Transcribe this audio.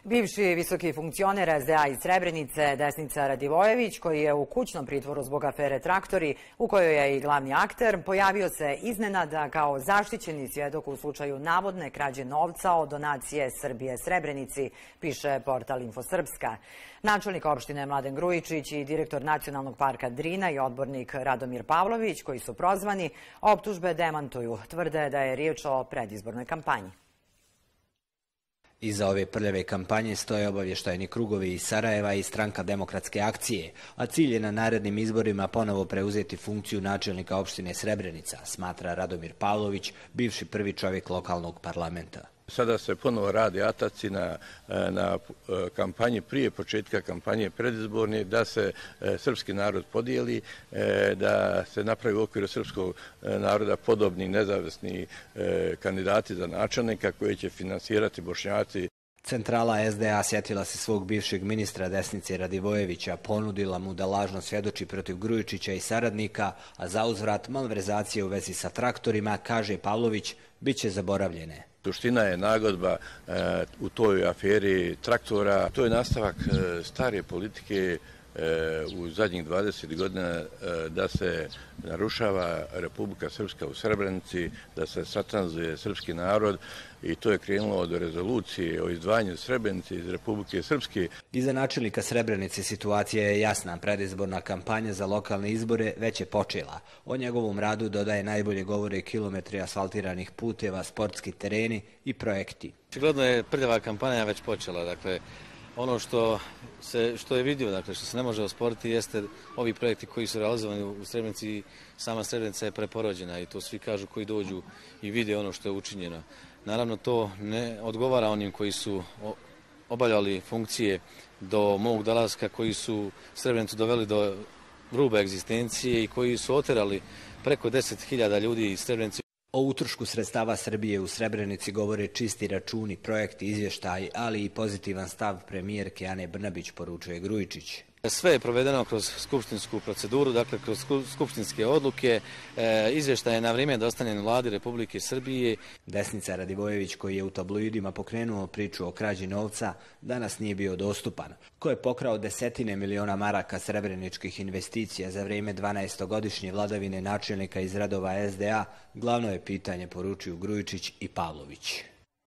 Bivši visoki funkcioner SDA iz Srebrenice, Desnica Radivojević, koji je u kućnom pritvoru zbog afere Traktori, u kojoj je i glavni akter, pojavio se iznenada kao zaštićeni svjedok u slučaju navodne krađe novca od donacije Srbije Srebrenici, piše portal Infosrpska. Načelnik opštine Mladen Grujičić i direktor Nacionalnog parka Drina i odbornik Radomir Pavlović, koji su prozvani, optužbe demantuju. Tvrde da je riječ o predizbornoj kampanji. Iza ove prljave kampanje stoje obavještajni krugovi iz Sarajeva i Stranka demokratske akcije, a cilj je na narednim izborima ponovo preuzeti funkciju načelnika opštine Srebrenica, smatra Radomir Pavlović, bivši prvi čovjek lokalnog parlamenta. Sada se ponovo radi ataci na kampanji prije početka kampanje predizborne, da se srpski narod podijeli, da se napravi u okviru srpskog naroda podobni nezavisni kandidati za načelnika koje će finansirati Bošnjaci. Centrala SDA sjetila se svog bivšeg ministra Desnice Radivojevića, ponudila mu da lažno svjedoči protiv Grujičića i saradnika, a za uzvrat malverzacije u vezi sa traktorima, kaže Pavlović, bit će zaboravljene. Suština je nagodba u toj aferi Traktora. To je nastavak stare politike u zadnjih 20 godina da se narušava Republika Srpska u Srebrenici, da se satanizuje srpski narod i to je krenulo od rezolucije o izdvajanju Srebrenice iz Republike Srpske. Iza načelnika Srebrenice situacija je jasna. Predizborna kampanja za lokalne izbore već je počela. O njegovom radu dodaje najbolje govore kilometri asfaltiranih puteva, sportski tereni i projekti. Očigledno je prljava kampanja već počela. Dakle, ono što je vidio, dakle, što se ne može osporiti, jeste ovi projekti koji su realizovani u Srebrenici. Sama Srebrenica je preporođena i to svi kažu koji dođu i vide ono što je učinjeno. Naravno, to ne odgovara onim koji su obavljali funkcije do mog dolaska, koji su Srebrenicu doveli do rube egzistencije i koji su oterali preko 10.000 ljudi iz Srebrenice. O utrošku sredstava Srbije u Srebrenici govore čisti računi, projekti, izvještaji, ali i pozitivan stav premijerke Ane Brnabić, poručuje Grujičić. Sve je provedeno kroz skupštinsku proceduru, dakle kroz skupštinske odluke, izvještaj je na vrijeme dostavljen Vladi Republike Srbije. Desnica Radivojević, koji je u tabloidima pokrenuo priču o krađi novca, danas nije bio dostupan. Ko je pokrao desetine miliona maraka srebreničkih investicija za vrijeme 12-godišnje vladavine načelnika iz redova SDA, glavno je pitanje, poručuju Grujičić i Pavlović.